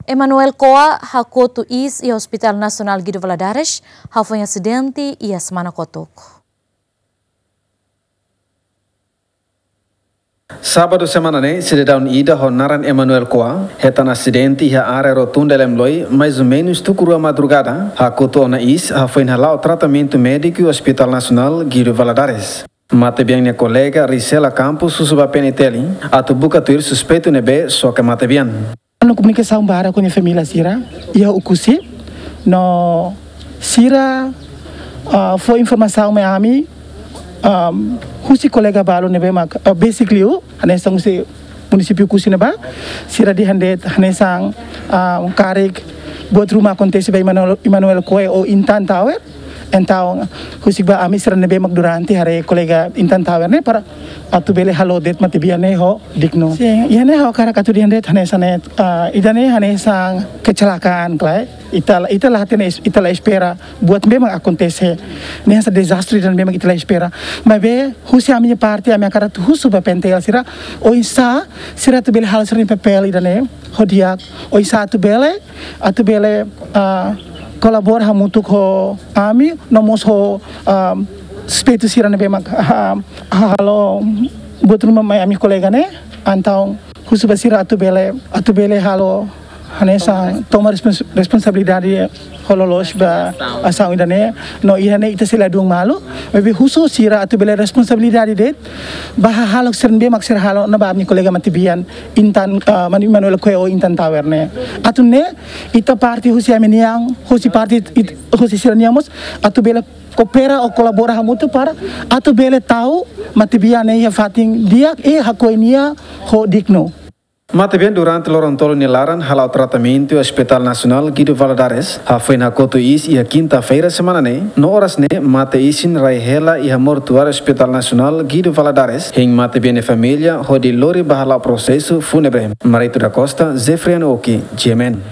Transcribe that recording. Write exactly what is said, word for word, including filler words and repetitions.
Emanuel Koa hakotu iis iha Hospital Nasionál Guido Valadares, hafoin asidente iha semana kotuk. Sábadu semana ne'e, sidadaun ida ho naran Emanuel Koa hetan asidente iha área Rotunda Elemloi, mais ou menus tuku rua madrugada, hakotu ona iis, hafoin hala'o tratamentu médiku Hospital Nasionál Guido Valadares. Matebian nia kolega Risela Campos husu ba P N T L atu buka tuir suspeitu ne'ebé soke matebian. Halo komunikasaun barak ho nia família sira iha Oekusi, no sira, ah, fó informasaun mai ami, ah, husi kolega balu ne'ebé mak, ah, besik liu, hanesan husi munisípiu Oekusi ne'ebá, sira dehan de'it hanesan, ah, karik buat ruma akontese ba Emanuel, Emanuel Koa ho Intan Tower. Entaun, husik ba ami sira ne'ebé mak durante haree kolega Intan Tower ne'e para atu bele halo de'it matebian ne'e ho dignu. Sin, iha ne'e ha'u hakarak atu dehan de'it hanesan ne'e, ah, ida-ne'e hanesan kecelakaan, klaru. Ita, ita la hatene, ita la espera buat ne'ebé mak akontese. Ne'e hanesan dezastre ida ne'ebé mak ita la espera. Maibé, husi ami-nia parte, ami hakarak atu husu ba P N T L sira, oinsá sira atu bele halo sira-nia papél ida-ne'e ho di'ak, oinsá atu bele, atu bele, ah, kolabora hamutuk ho ami, no mós ho, ah, suspeitu sira ne'ebé mak, ah, halo buat ruma mai ami kolega ne'e, entaun husu ba sira atu bele, atu bele halo hanesan toma respons-, responsabilidade ho loloos ba asaun ida-ne'e, no iha ne'e ita sei ladún malu, maibé husu sira atu bele responsabilidade de'it ba hahalok sira ne'ebé mak sira halo ona ba ami kolega matebian Intan, ah, Manu Emanuel Koa ho Intan Tower ne'e. Atu nune'e, ita parte husi ami-nian, husi parte it-, husi sira-nian mós, atu bele koopera ou kolabora hamutuk para atu bele tau matebian ne'e iha fatin di'ak i hakoi nia ho dignu. Matebian durante loron tolu nia laran hala'o tratamentu iha Hospital Nasionál Guido Valadares, hafoin hakotu iis iha kinta-feira semana ne'e, no oras ne'e mate isin rai hela iha mortuáriu Hospital Nasionál Guido Valadares, hein matebian nia família hodi lori ba hala'o prosesu fúnebre. Marito da Costa, Jeffrey Anoki, G M N.